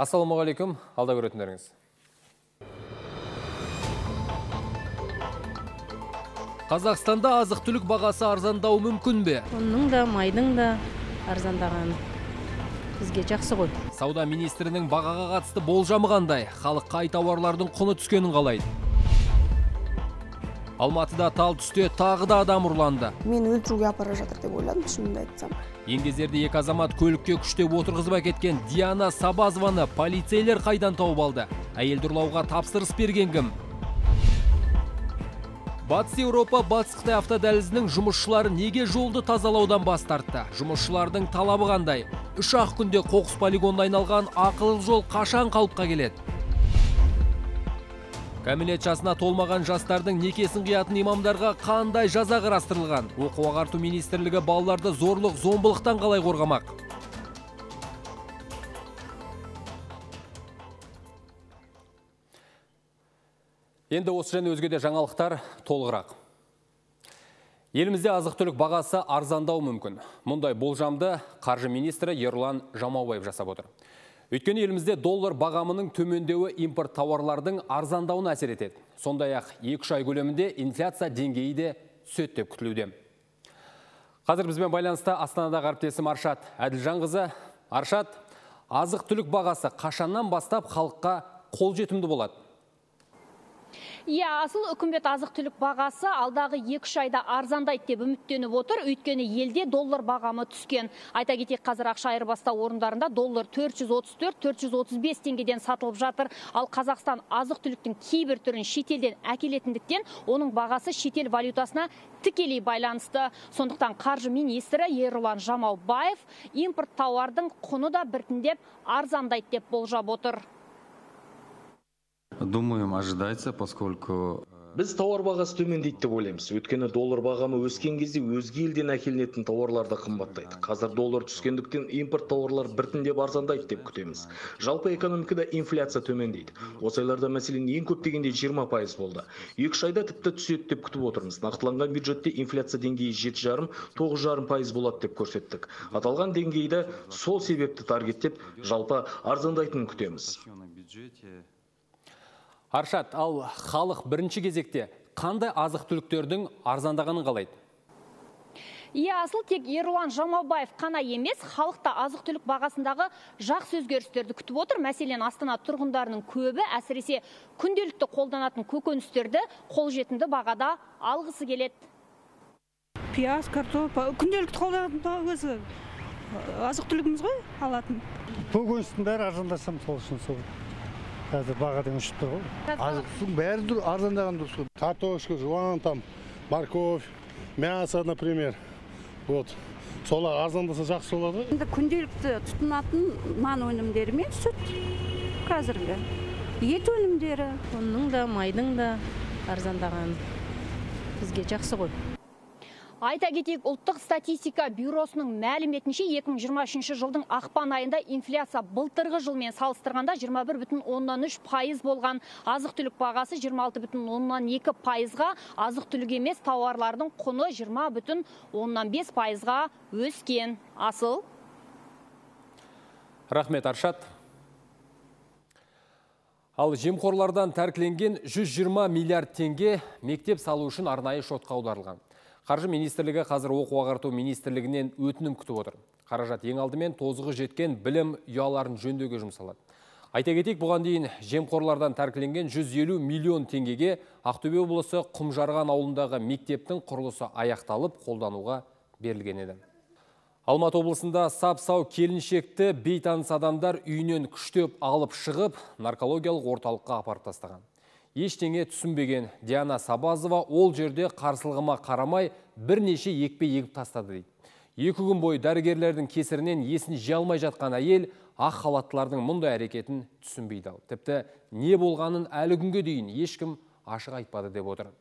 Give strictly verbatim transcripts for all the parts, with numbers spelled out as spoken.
Ассалаумағалейкум, алда көретіндеріңіз. Қазақстанда азық-түлік бағасы арзандау мүмкін бе? Оның да, майдың да арзандаған бізге жақсы ғой. Сауда министрінің бағаға қатысты болжамы қандай? Халық қай тауарлардың құны түскенін қалайды? Алматыда тал түсте тағы да адам ұрланды. Мен өлтіруге апара жатыр деп ойладым, шынымды айтсам. Еңгезерде екі азамат көлікке күштеп отырғызып әкеткен Диана Сабазованы полицейлер қайдан тауып алды? Әйелді ұрлауға тапсырыс берген кім? Батыс Еуропа Батыс Қытай автодәлізінің жұмысшылары неге жолды тазалаудан бас тартты? Жұмысшылардың талабы қандай? Үш ақ күнде қоқыс полигонына айналған ақылы жол қашан қалыпқа келеді? Кәмелет жасына толмаған жастардың некесін қиятын имамдарға қандай жаза қарастырылған? Оқу ағарту министрлігі балаларды зорлық, зомбылықтан қалай қорғамақ? Енді осы және өзге де жаңалықтар толығырақ. Елімізде азық-түлік бағасы арзандау мүмкін. Мұндай болжамды қаржы министрі Ерлан Жамаубаев жасап отыр. Өйткені елімізде доллар бағамының төмендеуі импорт тауарлардың арзандауына әсер етеді. Сондай-ақ екі-үш ай көлемінде инфляция деңгейі де түседі деп күтілуде. Қазір бізбен байланыста Астанадағы әріптесім Аршат Әділжанқызы. Аршат, азық-түлік бағасы қашаннан бастап халыққа қолжетімді болады? Иә, асыл үкімет азық-түлік бағасы алдағы екі-үш айда арзандайды деп үміттеніп отыр, өйткені елде доллар бағамы түскен. Айта кетейік, қазір ақша айырбастау орындарында доллар төрт жүз отыз төрт - төрт жүз отыз бес теңгеден сатылып жатыр. Ал Қазақстан азық-түліктің кейбір түрін шетелден әкелетіндіктен, оның бағасы шетел валютасына тікелей байланысты. Сондықтан қаржы министрі Ерлан Жамаубаев импорт тауардың құны да біртіндеп арзандайды деп болжап отыр. Думаем, ожидается, поскольку... Біз тауар бағасы төмендейді деп ойлаймыз. Өйткені доллар бағамы өскен кезде өзге елден әкелінетін тауарлар да қымбаттайды. Қазір доллар түскендіктен импорт тауарлар біртіндеп арзандайды деп күтеміз. Жалпы экономикада инфляция төмендейді. Осы айларда мәселен ең көп дегенде жиырма пайыз болды. екі-үш айда тіпті түседі деп күтіп отырмыз. Нақтыланған бюджетте инфляция деңгейі жеті жарым - тоғыз жарым пайыз болады деп көрсеттік. Аталған деңгейді сол себепті таргеттеп, жалпы арзандайтынын күтеміз. Аршат, ал халық бірінші кезекте қандай азық-түліктердің арзандағанын қалайды? Иә, асыл тек Ерлан Жамаубаев қана емес, халықта азық-түлік бағасындағы жақсы өзгерістерді күтіп отыр. Мәселен, Астана тұрғындарының көбі әсіресе күнделікті қолданатын көкөністерді қолжетімді бағада алғысы келеді. Пияз, картоп, күнделікті қолданатын өзі азық-түлігіміз ғой алатын. Көкөністің бәрі арзандасам сол үшін сол. Қазір бағадан ұшып тұр ғой. Азық-түліктің бәрі арзандаған дұрыс. Картошка, жуан, там, морковь, мясо, например. Вот. Солар арзандаса жақсы болады. Енді күнделікті тұтынатын нан өнімдері мен сүт қазіргі. Ет өнімдері. Оның да, майдың да арзандаған бізге жақсы ғой. Айта кетейік, ұлттық статистика бюросының мәліметінше екі мың жиырма үшінші жылдың ақпан айында инфляция былтырғы жылмен салыстырғанда жиырма бір бүтін оннан үш пайыз болған. Азық-түлік бағасы жиырма алты бүтін оннан екі пайызға, азық-түлік емес тауарлардың құны жиырма бүтін оннан бес пайызға өскен. Асыл. Рахмет, Аршат. Ал жемқорлардан тәркіленген жүз жиырма миллиард теңге мектеп салу үшін арнайы шотқа аударылған. Қаржы министрлігі қазір оқу ағарту министрлігінен өтінім күтіп отыр. Қаражат ең алдымен тозығы жеткен білім ұяларын жөндеуге жұмсалады. Айта кетейік, бұған дейін жемқорлардан тәркіленген жүз елу миллион теңгеге Ақтөбе облысы Құмжарған ауылындағы мектептің құрылысы аяқталып, қолдануға берілген еді. Алматы облысында сап-сау келіншекті бейтаныс адамдар үйінен күштеп алып шығып, наркологиялық орталыққа апарып тастаған. Ештеңе түсінбеген Диана Сабазова ол жерде қарсылығыма қарамай бірнеше екпе егіп тастады дейді. Екі күн бойы дәрігерлердің кесірінен есін жия алмай жатқан әйел ақ халаттылардың мұндай әрекетін түсінбейді. Тіпті не болғанын әлі күнге дейін ешкім ашық айтпады деп отыр.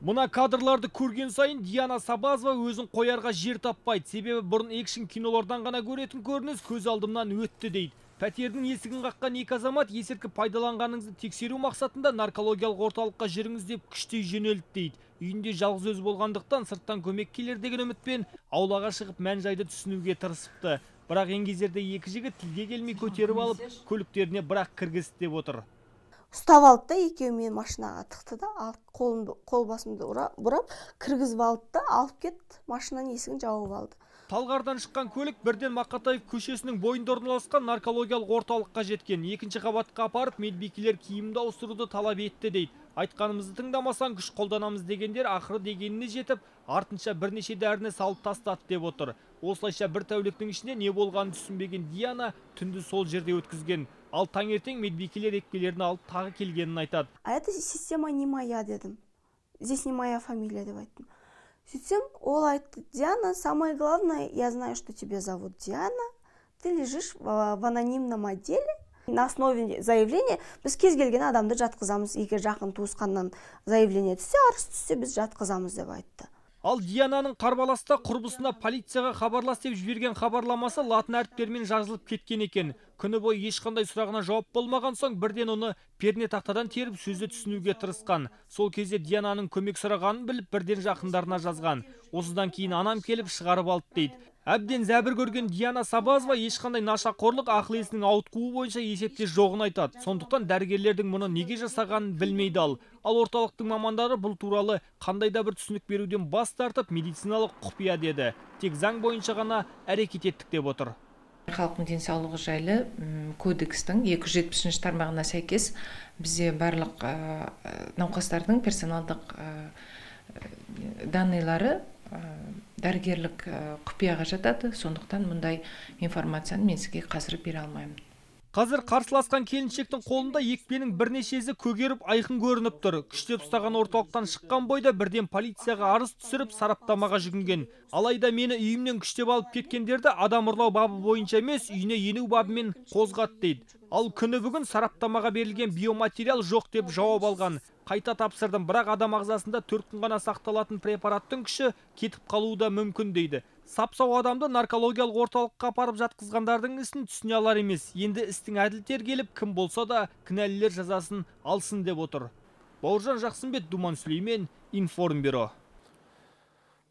Мұна кадрларды көрген сайын Диана Сабазова өзін қоярға жер таппайды. Себебі бұрын экшн кинолардан ғана көретін көрініс көз алдымнан өтті дейді. Пәтердің есігін қаққан екі азамат есірткі пайдаланғаныңызды тексеру мақсатында наркологиялық орталыққа жүріңіз деп күштей жөнелді дейді. Үйінде жалғыз өз болғандықтан сырттан көмек келер деген үмітпен аулаға шығып мән-жайды түсінуге тырысыпты. Бірақ еңгезерде екі жігіт тілге келмей көтеріп алып, көліктеріне бірақ кіргізді деп отыр. Ұстап алды да, екеуі мен машинаға тықты да, қол басымды бұрап, кіргізіп алды да, алып кетті, машинаның есігін жауып алды. Талғардан шыққан көлік бірден Мақатаев көшесінің бойында орналасқан наркологиялық орталыққа жеткен. Екінші қабатқа апарып, медбикелер киімді ауыстыруды талап етті дейді. Айтқанымызды тыңдамасаң күш қолданамыз дегендер ақыры дегеніне жетіп, артынша бірнеше дәріні салып тастады деп отыр. Осылайша бір тәуліктің ішінде не болғанын түсінбеген Диана түнді сол жерде өткізген. Ал таңертең медбикелер екпелерін алып тағы келгенін айтады. А это система не моя дедім. Здесь не моя фамилия деп айттым. Сөйтсем, ол айтты: Диана, самое главное, я знаю, что тебя зовут Диана, ты лежишь в анонимном отделе. На основе заявления біз кез келген адамды жатқызамыз, егер жақын туысқаннан заявление түссе, арыз түссе, біз жатқызамыз деп айтты. Ал Диананың қарбаласта құрбысына полицияға хабарлас деп жіберген хабарламасы латын әріптерімен жазылып кеткен екен. Күні бойы ешқандай сұрағына жауап болмаған соң бірден оны перне тақтадан теріп сөзді түсінуге тырысқан. Сол кезде Диананың көмек сұрағанын біліп бірден жақындарына жазған. Осыдан кейін анам келіп шығарып алды дейді. Әбден зәбір көрген Диана Сабазова ешқандай нашақорлық ақыл есінің ауытқуы бойынша есепте жоғын айтады. Сондықтан дәрігерлердің мұны неге жасағанын білмейді ал. Ал орталықтың мамандары бұл туралы қандай да бір түсінік беруден бас тартып, медициналық құпия деді. Тек заң бойынша ғана әрекет еттік деп отыр. Халықтың денсаулығы жайлы кодекстің екі жүз жетпісінші тармағына сәйкес бізде барлық науқастардың персоналдық данныйлары дәрігерлік құпияға жатады. Сондықтан мұндай информацияны мен сізге қазір бере алмаймын. Қазір қарсыласқан келіншектің қолында екпенің бірнешесі көгеріп айқын көрініп тұр. Күштеп ұстаған орталықтан шыққан бойда бірден полицияға арыз түсіріп сараптамаға жүгінген. Алайда мені үйімнен күштеп алып кеткендерді адам ұрлау бабы бойынша емес, үйіне ену бабымен қозғады дейді. Ал күні бүгін сараптамаға берілген биоматериал жоқ деп жауап алған. Қайта тапсырдым, бірақ адам ағзасында төрт күн ғана сақталатын препараттың күші кетіп қалуы да мүмкін дейді. Сапсау адамды наркологиялық орталыққа апарып жатқызғандардың ісін түсіне алар емес. Енді істің әділ тергеліп, кім болса да кінәлілер жазасын алсын деп отыр. Бауыржан Жақсымбет, Думан Сүлеймен, Информбюро.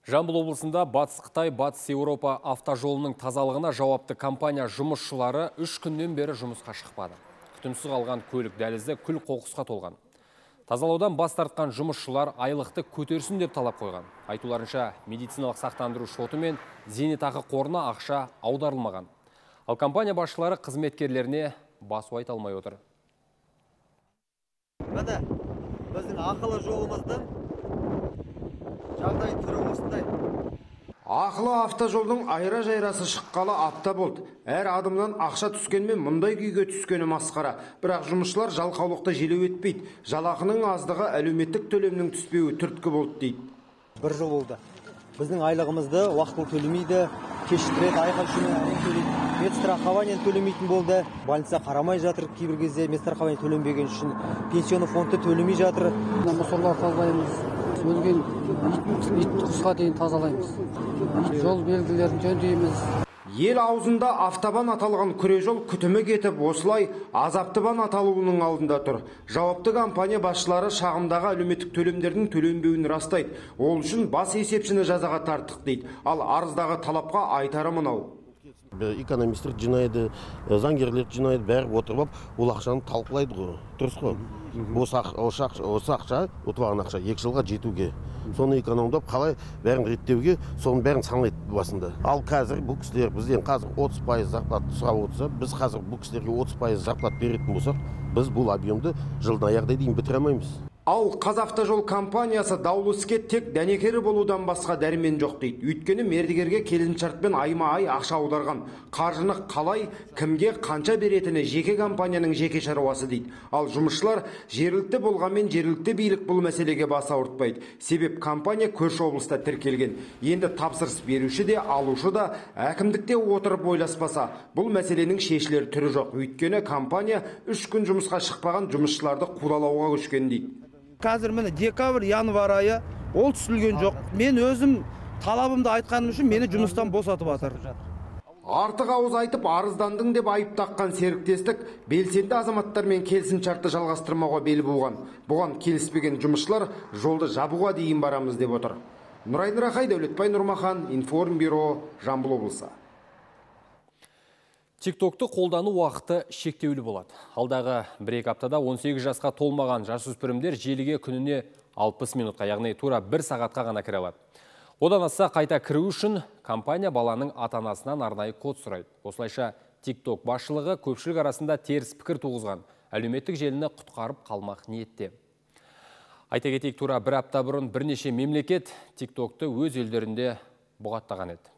Жамбыл облысында Батыс Қытай, Батыс Еуропа автожолының тазалығына жауапты компания жұмысшылары үш күннен бері жұмысқа шықпады. Күтімсіз қалған көлік дәлізі күл қоқысқа толған. Тазалаудан бас тартқан жұмысшылар айлықты көтерсін деп талап қойған. Айтуларынша, медициналық сақтандыру шоты мен зейнетақы қорына ақша аударылмаған. Ал компания басшылары қызметкерлеріне басу айта алмай отыр. Міне, біздің ақылы жолымыздың жағдай түрі осындай. Ақылы автожолдың айра-жайрасы шыққалы апта болды. Әр адымнан ақша түскенмен мұндай күйге түскені масқара. Бірақ жұмысшылар жалқаулықты желеу етпейді. Жалақының аздығы әлеуметтік төлемнің түспеуі түрткі болды дейді. Бір жыл болды. Біздің айлығымызды уақытылы төлемейді, кешіктіреді, айқай-шумен төлейді. Медстрахованиен төлемейтін болды. Больница қарамай жатыр, кейбір кезде медстрахование төленбеген үшін пенсионный фондты төлемей жатыр. Мусорлар тазалаймыз. Өлген ит құсқа дейін тазалаймыз. Жол белгілерін жөндейміз. Ел аузында автобан аталған күре жол күтімі кетіп, осылай азаптыбан аталуының алдында тұр. Жауапты компания басшылары шағымдағы әлеуметтік төлемдердің төленбеуін растайды. Ол үшін бас есепшіні жазаға тарттық дейді. Ал арыздағы талапқа айтары мынау. Экономистер жинайды, заңгерлер жинайды, бәрі отырып, ол ақшаны талқылайды ғой. Дұрыс қой. Осы ақша, ұтылған ақша екі жылға жетуге. Соны экономдап, қалай бәрін реттеуге, соның бәрін санайды басында. Ал қазір бұл кісілер бізден қазір отыз пайыз зарплат сұрап отырса, біз қазір бұл кісілерге отыз пайыз зарплат беретін болсақ, біз бұл объемды жылдың аяғына дейін бітіре алмаймыз. Ал Қазавтожол компаниясы даулы іске тек дәнекері болудан басқа дәрмен жоқ дейді. Өйткені мердігерге келісімшартпен айма-ай ақша аударған. Қаржыны қалай, кімге қанша беретіні жеке компанияның жеке шаруасы дейді. Ал жұмысшылар жергілікті болғанмен жергілікті билік бұл мәселеге бас ауыртпайды. Себеп компания көрші облыста тіркелген. Енді тапсырыс беруші де, алушы да әкімдікте отырып ойласпаса, бұл мәселенің шешілер түрі жоқ. Өйткені компания үш күн жұмысқа шықпаған жұмысшыларды қудалауға көшкен дейді. Қазір міне декабрь, январь айы ол түсілген жоқ. Мен өзім талабымды айтқаным үшін мені жұмыстан босатып жатыр. Артық ауыз айтып арыздандың деп айып таққан серіктестік белсенді азаматтармен келісімшартты жалғастырмауға бел буған. Бұған келіспеген жұмысшылар жолды жабуға дейін барамыз деп отыр. Нұрайын Рахай, Дәулетбай Нұрмахан, Информбюро, Жамбыл облысы. Тиктокты қолдану уақыты шектеулі болады. Алдағы бір-екі аптада он сегіз жасқа толмаған жасөспірімдер желіге күніне алпыс минутқа, яғни тура бір сағатқа ғана кіре алады. Одан асса қайта кіру үшін компания баланың ата-анасынан арнайы код сұрайды. Осылайша TikTok басшылығы көпшілік арасында теріс пікір туғызған, әлеуметтік желіні құтқарып қалмақ ниетте. Айта кетейік, тура бір апта бұрын бірнеше мемлекет TikTokты өз елдерінде бұғаттаған еді.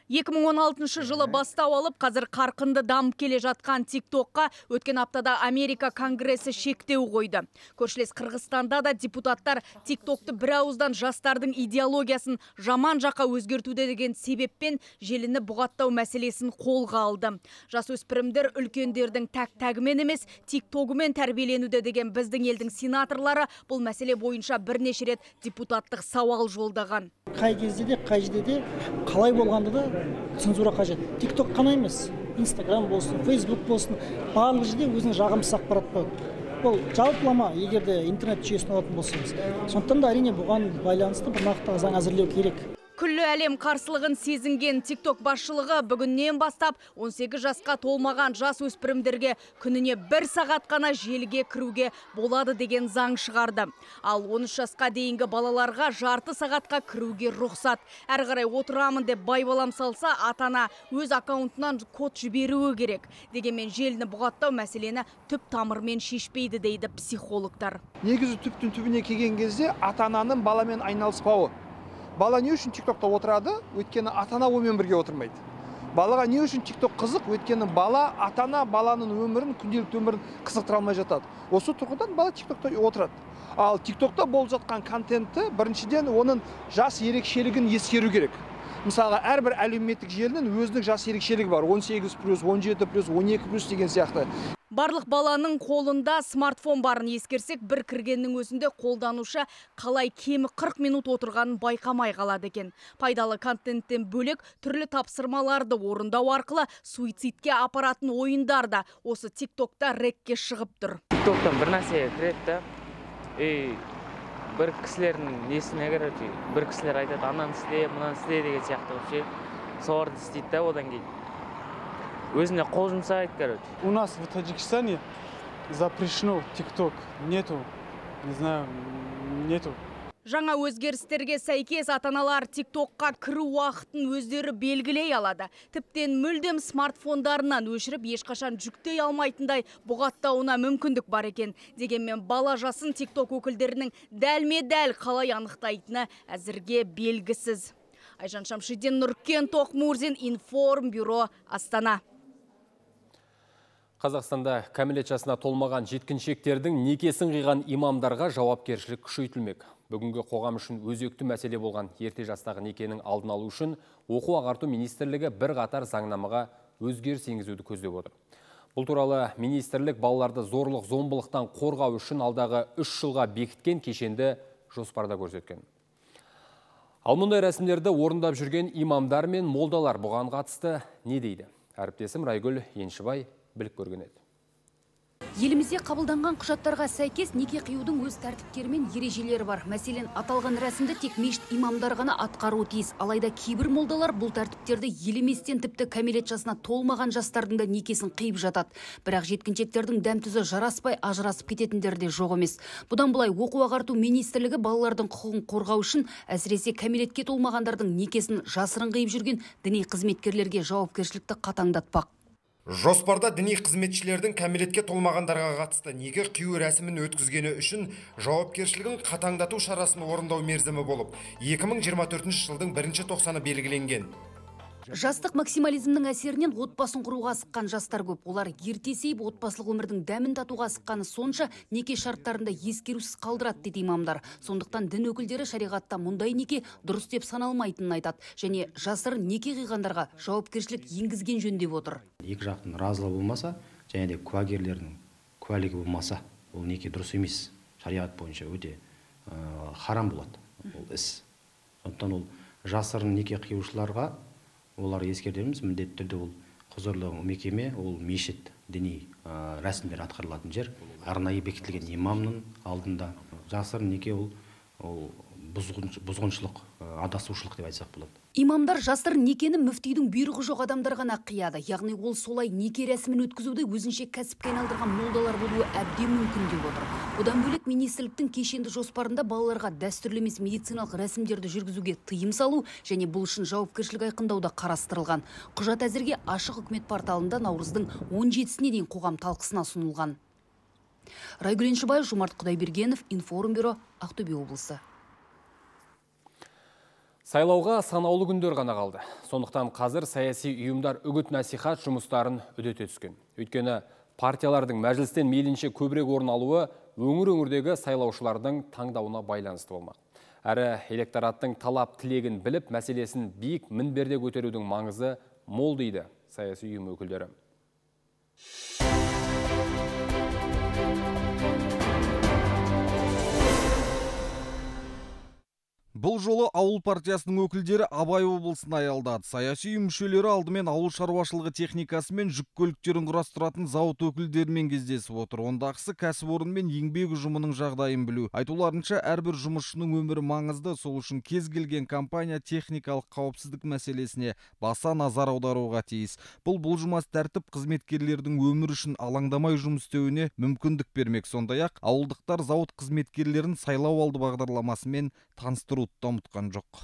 екі мың он алтыншы жылы бастау алып, қазір қарқынды дамып келе жатқан TikTokқа өткен аптада Америка Конгресі шектеу қойды. Көршілес Қырғызстанда да депутаттар TikTokты бір ауыздан жастардың идеологиясын жаман жаққа өзгертуде деген себеппен желіні бұғаттау мәселесін қолға алды. Жасөспірімдер үлкендердің тәк-тәгімен емес, TikTokымен тәрбиеленуде деген біздің елдің сенаторлары бұл мәселе бойынша бірнеше рет депутаттық сауал жолдаған. Қай кезде де, қай жерде де, қалай болғанда да цензура қажет. TikTok қана емес, Instagram болсын, Facebook болсын, барлық жерде өзінің жағымсыз ақпарат бар. Бұл жалпылама, егер де интернет жүйесін алатын болсаңыз. Сондықтан да әрине бұған байланысты бір нақты заң әзірлеу керек. Күллі әлем қарсылығын сезінген TikTok басшылығы бүгіннен бастап он сегіз жасқа толмаған жас өспірімдерге күніне бір сағат қана желіге кіруге болады деген заң шығарды. Ал он үш жасқа дейінгі балаларға жарты сағатқа кіруге рұқсат. Әрі қарай отырамын деп байбалам салса, ата-ана өз аккаунтынан код жіберуі керек. Дегенмен желіні бұғаттау мәселені түп тамырмен шешпейді дейді психологтар. Негізі түптің түбіне келген кезде ата-ананың баламен айналыспауы. Бала не үшін TikTokта отырады, өйткені ата-ана онымен бірге отырмайды. Балаға не үшін TikTok қызық, өйткені бала ата-ана баланың өмірін, күнделікті өмірін қызықтыра алмай жатады. Осы тұрғыдан бала TikTokта отырады. Ал TikTokта болып жатқан контентті біріншіден оның жас ерекшелігін ескеру керек. Мысалға, әрбір әлеуметтік желінің өзінің жас ерекшелігі бар. он сегіз плюс, он жеті плюс, он екі плюс деген сияқты. Барлық баланың қолында смартфон барын ескерсек, бір кіргеннің өзінде қолданушы қалай кемі қырық минут отырғанын байқамай қалады екен. Пайдалы контенттен бөлек түрлі тапсырмаларды орындау арқылы суицидке апаратын ойындар да осы TikTokта рекке шығып тұр. TikToктан бір нәрсе кіреді, бір кісілердің несіне кіреді, бір кісілер айтады, ананы істе, мынаны істе деген сияқты соларды істейді, одан кейін өзіне қол жұмсайды, короче. У нас в Таджикистане запрещено TikTok. Нету, не знаю, нету. Жаңа өзгерістерге сәйкес ата-аналар TikTokқа кіру уақытын өздері белгілей алады. Тіптен мүлдем смартфондарынан өшіріп, ешқашан жүктей алмайтындай бұғаттауына мүмкіндік бар екен. Дегенмен бала жасын TikTok өкілдерінің дәлме-дәл қалай анықтайтыны әзірге белгісіз. Айжан Шамшидин, Нұркен Тоқмурзин, Информ бюро, Астана. Қазақстанда кәмелет жасына толмаған жеткіншектердің некесін қиған имамдарға жауапкершілік күшейтілмек. Бүгінгі қоғам үшін өзекті мәселе болған ерте жастағы некенің алдын алу үшін оқу ағарту министрлігі бір қатар заңнамаға өзгеріс енгізуді көздеп отыр. Бұл туралы министрлік балаларды зорлық зомбылықтан қорғау үшін алдағы үш жылға бекіткен кешенді жоспарда көрсеткен. Ал мұндай рәсімдерді орындап жүрген имамдар мен молдалар бұған қатысты не дейді? Әріптесім Райгүл Еншібай біліп көрген еді. Елімізде қабылданған құжаттарға сәйкес неке қиюдың өз тәртіптері мен ережелері бар. Мәселен, аталған рәсімді тек мешіт имамдар ғана атқаруы тиіс. Алайда кейбір молдалар бұл тәртіптерді елеместен тіпті кәмелет жасына толмаған жастардың да некесін қиып жатады. Бірақ жеткіншектердің дәм-тұзы жараспай ажырасып кететіндер де жоқ емес. Бұдан былай оқу ағарту министрлігі балалардың құқығын қорғау үшін әсіресе кәмелетке толмағандардың некесін жасырын қиып жүрген діни қызметкерлерге жауапкершілікті қатаңдатпақ. Жоспарда діни қызметшілердің кәмелетке толмағандарға қатысты неке қию рәсімін өткізгені үшін жауапкершілігін қатаңдату шарасын орындау мерзімі болып, екі мың жиырма төртінші жылдың бірінші тоқсаны белгіленген. Жастық максимализмнің әсерінен отбасын құруға асыққан жастар көп. Олар ерте сейіп отбасылық өмірдің дәмін татуға асыққаны сонша неке шарттарында ескерусіз қалдырады дейді имамдар. Сондықтан дін өкілдері шариғатта мұндай неке дұрыс деп саналмайтынын айтады. Және жасырын неке қиғандарға жауапкершілік енгізген жөн деп отыр. Екі жақтың разылығы болмаса, және де куәгерлердің куәлігі болмаса, ол неке дұрыс емес. Шариғат бойынша өте харам болады ол іс. Сондықтан ол жасырын неке қиюшыларға олар ескертеміз, міндетті түрде ол құзырлы мекеме, ол мешіт, діни рәсімдер атқарылатын жер, арнайы бекітілген имамның алдында. Жасырын неке ол бұзғыншылық адасушылық деп айтсақ болады. Имамдар жасырын некені мүфтидің бұйрығы жоқ адамдар ғана қияды. Яғни ол солай неке рәсімін өткізуді өзінше кәсіпке айналдырған молдалар болуы әбден мүмкін деп отыр. Одан бөлек министрліктің кешенді жоспарында балаларға дәстүрлі емес медициналық рәсімдерді жүргізуге тыйым салу және бұл үшін жауапкершілік айқындауда қарастырылған. Құжат әзірге ашық үкімет порталында наурыздың он жетісіне дейін қоғам талқысына ұсынылған. Райгүл Еншібай, Жомарт Құдайбергенов, Информбюро, Ақтөбе облысы. Сайлауға санаулы күндер ғана қалды. Сондықтан қазір саяси ұйымдар үгіт насихат жұмыстарын үдете түскен. Өйткені партиялардың мәжілістен мейлінше көбірек орын алуы өңір-өңірдегі сайлаушылардың таңдауына байланысты болмақ. Әрі электораттың талап тілегін біліп, мәселесін биік мінберде көтерудің маңызы мол дейді саяси ұйым өкілдері. Бұл жолы ауыл партиясының өкілдері Абай облысын аялдады. Саяси ұйым мүшелері алдымен ауыл шаруашылығы техникасы мен жүк көліктерін құрастыратын зауыт өкілдерімен кездесіп отыр. Ондағысы кәсіпорын мен еңбек ұжымының жағдайын білу. Айтуларынша, әрбір жұмысшының өмірі маңызды, сол үшін кез келген компания техникалық қауіпсіздік мәселесіне баса назар аударуға тиіс. Бұл бұлжымас тәртіп қызметкерлердің өмір үшін алаңдамай жұмыс істеуіне мүмкіндік бермек. Сондай-ақ ауылдықтар зауыт қызметкерлерін сайлау алды бағдарламасымен таныстыру ұмытқан жоқ.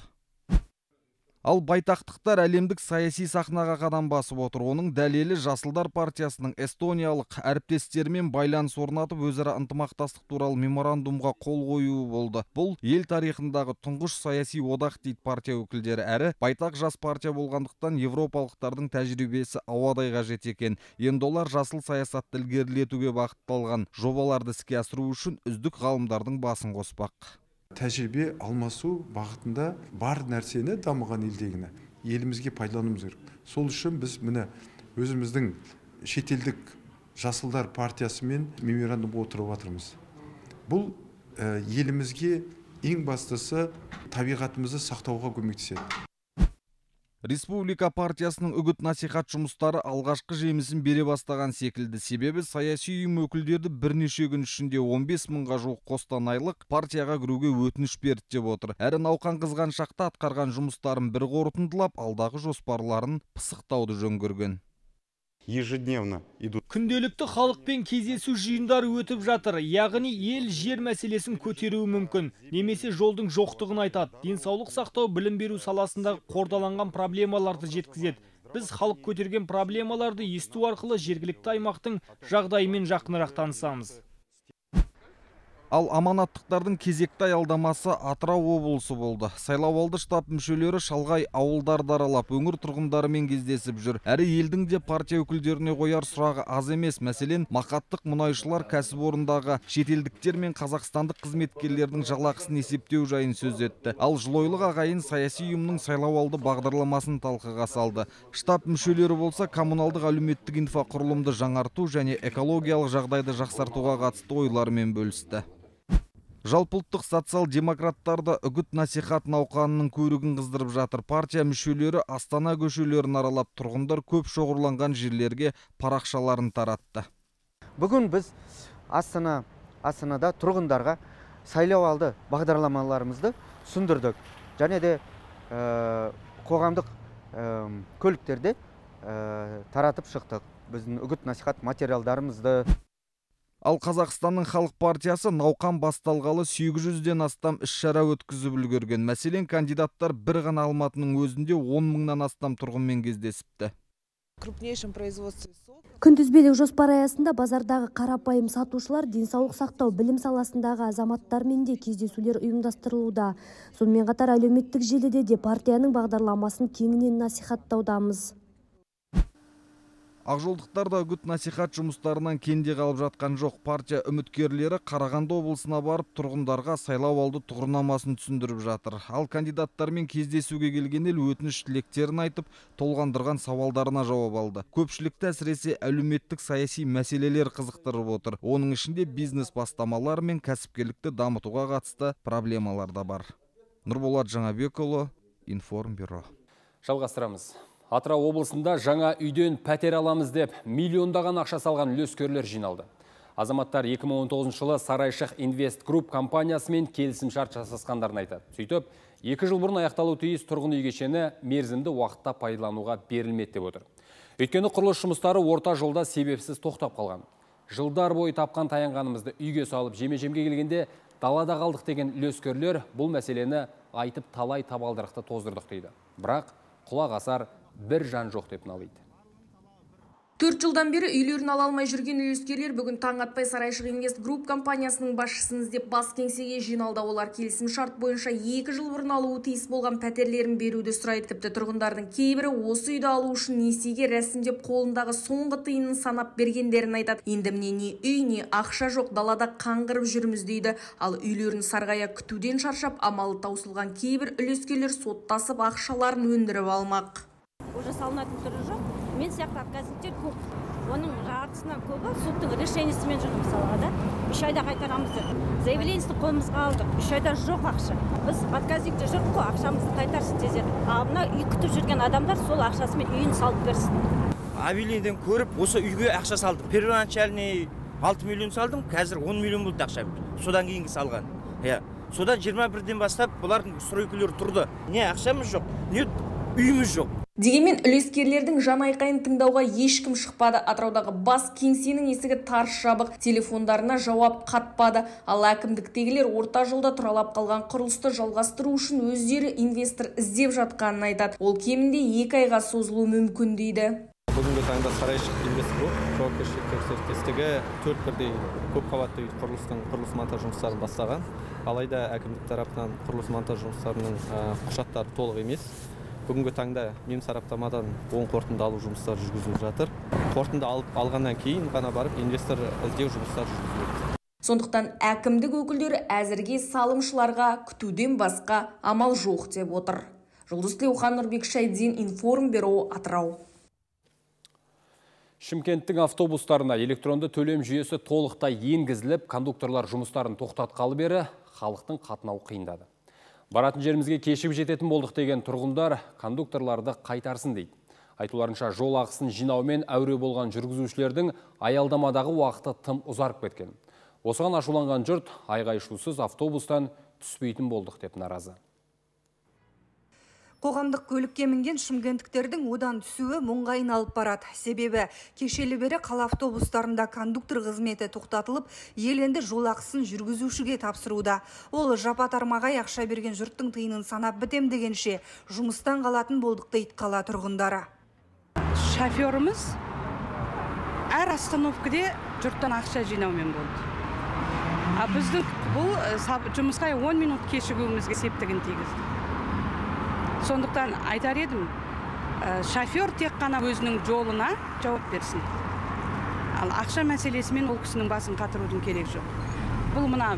Ал байтақтықтар әлемдік саяси сахнаға қадам басып отыр. Оның дәлелі Жасылдар партиясының эстониялық әріптестерімен байланыс орнатып, өзара ынтымақтастық туралы меморандумға қол қоюы болды. Бұл ел тарихындағы тұңғыш саяси одақ дейді партия өкілдері. Әрі байтақ жас партия болғандықтан европалықтардың тәжірибесі ауадай қажет екен. Енді олар жасыл саясатты ілгерілетуге бағытталған жобаларды іске асыру үшін үздік ғалымдардың басын қоспақ. Тәжірибе алмасу бағытында бар нәрсені дамыған елдегіні елімізге пайдалануымыз керек. Сол үшін біз міне өзіміздің шетелдік Жасылдар партиясымен меморандумға отырып жатырмыз. Бұл елімізге ең бастысы табиғатымызды сақтауға көмектеседі. Республика партиясының үгіт насихат жұмыстары алғашқы жемісін бере бастаған секілді. Себебі саяси ұйым өкілдерді бірнеше күн ішінде он бес мыңға жуық қостанайлық партияға кіруге өтініш берді деп отыр. Әрі науқан қызған шақта атқарған жұмыстарын бір қорытындылап, алдағы жоспарларын пысықтауды жөн көрген. Ежедневно идут. Күнделікті халықпен кездесу жиындары өтіп жатыр. Яғни ел жер мәселесін көтеруі мүмкін. Немесе жолдың жоқтығын айтады. Денсаулық сақтау, білім беру саласындағы қордаланған проблемаларды жеткізеді. Біз халық көтерген проблемаларды есту арқылы жергілікті аймақтың жағдайымен жақынырақ танысамыз. Ал аманаттықтардың кезекті аялдамасы Атырау облысы болды. Сайлауалды штаб мүшелері шалғай ауылдарды аралап, өңір тұрғындарымен кездесіп жүр. Әрі елдің де партия өкілдеріне қояр сұрағы аз емес. Мәселен, мақаттық мұнайшылар кәсіпорындағы шетелдіктер мен қазақстандық қызметкерлердің жалақысын есептеу жайын сөз етті. Ал Жылойлық ағайын саяси ұйымның сайлауалды бағдарламасын талқыға салды. Штаб мүшелері болса коммуналдық әлеуметтік инфрақұрылымды жаңарту және экологиялық жағдайды жақсартуға қатысты ойларымен бөлісті. Жалпылттық социал-демократтарды үгіт насихат науқанының көрігін қыздырып жатыр. Партия мүшелері Астана көшелерін аралап, тұрғындар көп шоғырланған жерлерге парақшаларын таратты. Бүгін біз Астана Астанада тұрғындарға сайлауалды бағдарламаларымызды түсіндірдік. Және де қоғамдық көліктерде таратып шықтық. Біздің үгіт насихат материалдарымызды. Ал Қазақстанның халық партиясы науқан басталғалы сегіз жүзден астам іс-шара өткізіп үлгерген. Мәселен, кандидаттар бір ғана Алматының өзінде он мыңнан астам тұрғынмен кездесіпті. Күнтізбелік жоспар аясында базардағы қарапайым сатушылар, денсаулық сақтау, білім саласындағы азаматтармен де кездесулер ұйымдастырылуда. Сонымен қатар әлеуметтік желіде де партияның бағдарламасын кеңінен насихаттаудамыз. Ақжолдықтар да үгіт насихат жұмыстарынан кенде қалып жатқан жоқ. Партия үміткерлері Қарағанды облысына барып, тұрғындарға сайлауалды тұғырнамасын түсіндіріп жатыр. Ал кандидаттармен кездесуге келген ел өтініш тілектерін айтып, толғандырған сауалдарына жауап алды. Көпшілікті әсіресе әлеуметтік саяси мәселелер қызықтырып отыр. Оның ішінде бизнес бастамалар мен кәсіпкерлікті дамытуға қатысты проблемалар да бар. Нұрболат Жаңабекұлы, Информбюро. Жалғастырамыз. Атырау облысында жаңа үйден пәтер аламыз деп миллиондаған ақша салған үлескерлер жиналды. Азаматтар екі мың он тоғызыншы жылы Сарайшық Инвест Групп компаниясымен келісімшарт жасасқандарын айтады. Сөйтіп, екі жыл бұрын аяқталу тиіс тұрғын үй кешені мерзімді уақытта пайдалануға берілмеді деп отыр. Өйткені құрылыс жұмыстары орта жолда себепсіз тоқтап қалған. Жылдар бойы тапқан таянғанымызды үйге салып жеме-жемге келгенде далада қалдық деген үлескерлер бұл мәселені айтып талай табалдырықты тоздырдық дейді. Бірақ құлақ асар бір жан жоқ деп налиды. Төрт жылдан бері үйлерін ала алмай жүрген үлескерлер бүгін таң атпай Сарайшық Инвест Групп компаниясының басшысын іздеп бас кеңсеге жиналды. Олар келісім шарт бойынша екі жыл бұрын алуы тиіс болған пәтерлерін беруді сұрайды. Тіпті тұрғындардың кейбірі осы үйді алу үшін несиеге рәсімдеп қолындағы соңғы тиынын санап бергендерін айтады. Енді міне не үй, не ақша жоқ, далада қаңғырып жүрміз дейді. Ал үйлерін сарғая күтуден шаршап, амалы таусылған кейбір үлескерлер соттасып ақшаларын өндіріп алмақ. Уже салынатын түрі жоқ. Мен сияқты отказниктер көп. Оның жартысынан көбі соттың решениесімен жүрді мысалға да. Үш айда қайтарамыз деп. Заявлениесін қолымызға алдық. Үш айда жоқ ақша. Біз отказникте жүрдік қой, ақшамызды қайтарсын тезірек. Ал мына үй күтіп жүрген адамдар сол ақшасымен үйін салып берсін. Объявлениеден көріп, осы үйге ақша салдым. Первоначальный алты миллион салдым, қазір он миллион болды ақша. Содан кейінгі салған. Иә. Содан жиырма бірден бастап бұлардың стройкілері тұрды. Не ақшамыз жоқ, не үйіміз жоқ. Дегенмен үлескерлердің жан айқайын тыңдауға ешкім шықпады. Атыраудағы бас кеңсенің есігі тарс жабық, телефондарына жауап қатпады. Ал әкімдіктегілер орта жолда тұралап қалған құрылысты жалғастыру үшін өздері инвестор іздеп жатқанын айтады. Ол кемінде екі айға созылуы мүмкін дейді. Бүгінгі таңда Сарайшық Инвест Групп жауапкершілігі серіктестігі төрт бірдей көпқабатты үй құрылыстың құрылыс монтаж жұмыстарын бастаған. Алайда әкімдік тарапынан құрылыс монтаж жұмыстарының құжаттары толық емес. Бүгінгі таңда мем сараптамадан оң қорытынды алу жұмыстары жүргізіліп жатыр. Қорытынды алып алғаннан кейін ғана барып инвестор іздеу жұмыстары жүргізіледі. Сондықтан әкімдік өкілдері әзірге салымшыларға күтуден басқа амал жоқ деп отыр. Жұлдыз Тілеухан, Нұрбек Шайдин, Информбюро, Атырау. Шымкенттің автобустарына электронды төлем жүйесі толықтай енгізіліп, кондукторлар жұмыстарын тоқтатқалы бері халықтың қатынауы қиындады. Баратын жерімізге кешігіп жететін болдық деген тұрғындар кондукторларды қайтарсын дейді. Айтуларынша жол ақысын жинаумен әуре болған жүргізушілердің аялдамадағы уақыты тым ұзарып кеткен. Осыған ашуланған жұрт айғай-шусыз автобустан түспейтін болдық деп наразы. Қоғамдық көлікке мінген шымкенттіктердің одан түсуі мұңға айналып барады. Себебі кешелі бері қала автобустарында кондуктор қызметі тоқтатылып, ел енді жол ақысын жүргізушіге тапсыруда. Ол жапа-тармағай ақша берген жұрттың тиынын санап бітем дегенше жұмыстан қалатын болдық дейді қала тұрғындары. Шоферіміз әр остановкаде жұрттан ақша жинаумен болды. А біздің бұл жұмысқа он минут кешігуімізге септігін тигізді. Сондықтан айтар едім, шофер тек қана өзінің жолына жауап берсін. Ал ақша мәселесімен ол кісінің басын қатырудың керек жоқ. Бұл мына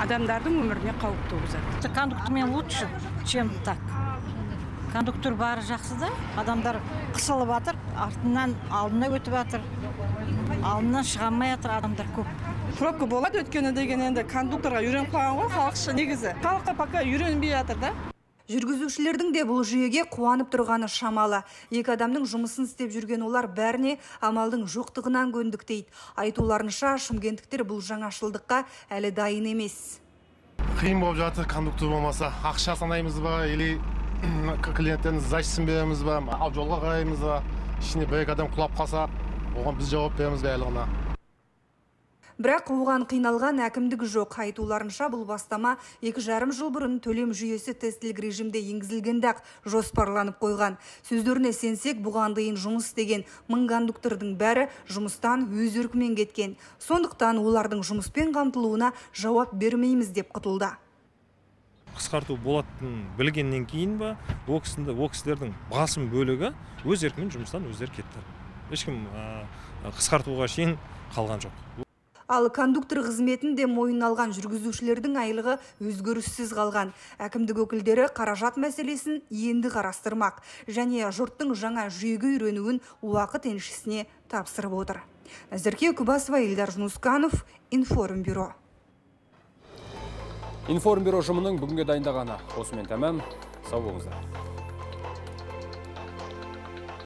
адамдардың өміріне қауіп туғызады. Кондуктормен лучше, чем так. Кондуктор бары жақсы да, адамдар қысылып жатыр, артынан алдына өтіп жатыр, алдынан шыға алмай жатыр адамдар көп. Пробка болады өткені деген енді кондукторға үйреніп қалған ғой, халықша негізі. Халыққа пока үйренбей жатыр да. Жүргізушілердің де бұл жүйеге қуанып тұрғаны шамалы. Екі адамның жұмысын істеп жүрген олар бәріне амалдың жоқтығынан көндік дейді. Айтуларынша шымкенттіктер бұл жаңашылдыққа әлі дайын емес. Қиын болып жатыр, кондуктор болмаса, ақша санаймыз ба, или клиенттердің зачтысын береміз ба, ал жолға қараймыз ба, ішіне бір екі адам құлап қалса, оған біз жауап береміз бе әлі ғана. Бірақ оған қиналған әкімдігі жоқ. Айтуларынша бұл бастама екі жарым жыл бұрын төлем жүйесі тестілік режимде енгізілгенде-ақ жоспарланып қойған. Сөздеріне сенсек, бұған дейін жұмыс істеген мың кондуктордың бәрі жұмыстан өз еркімен кеткен. Сондықтан олардың жұмыспен қамтылуына жауап бермейміз деп құтылды. Қысқарту болатынын білгеннен кейін ба, ол кісілердің басым бөлігі өз еркімен жұмыстан өздері кетті. Ешкім қысқартуға шейін қалған жоқ. Ал кондуктор қызметін де мойнына алған жүргізушілердің айлығы өзгеріссіз қалған. Әкімдік өкілдері қаражат мәселесін енді қарастырмақ және жұрттың жаңа жүйеге үйренуін уақыт еншісіне тапсырып отыр. Назерке Үкібасова, Елдар Жунусканов, Информбюро. Информбюро ұжымының бүгінге дайындағаны осымен тәмам. Сау болыңыздар.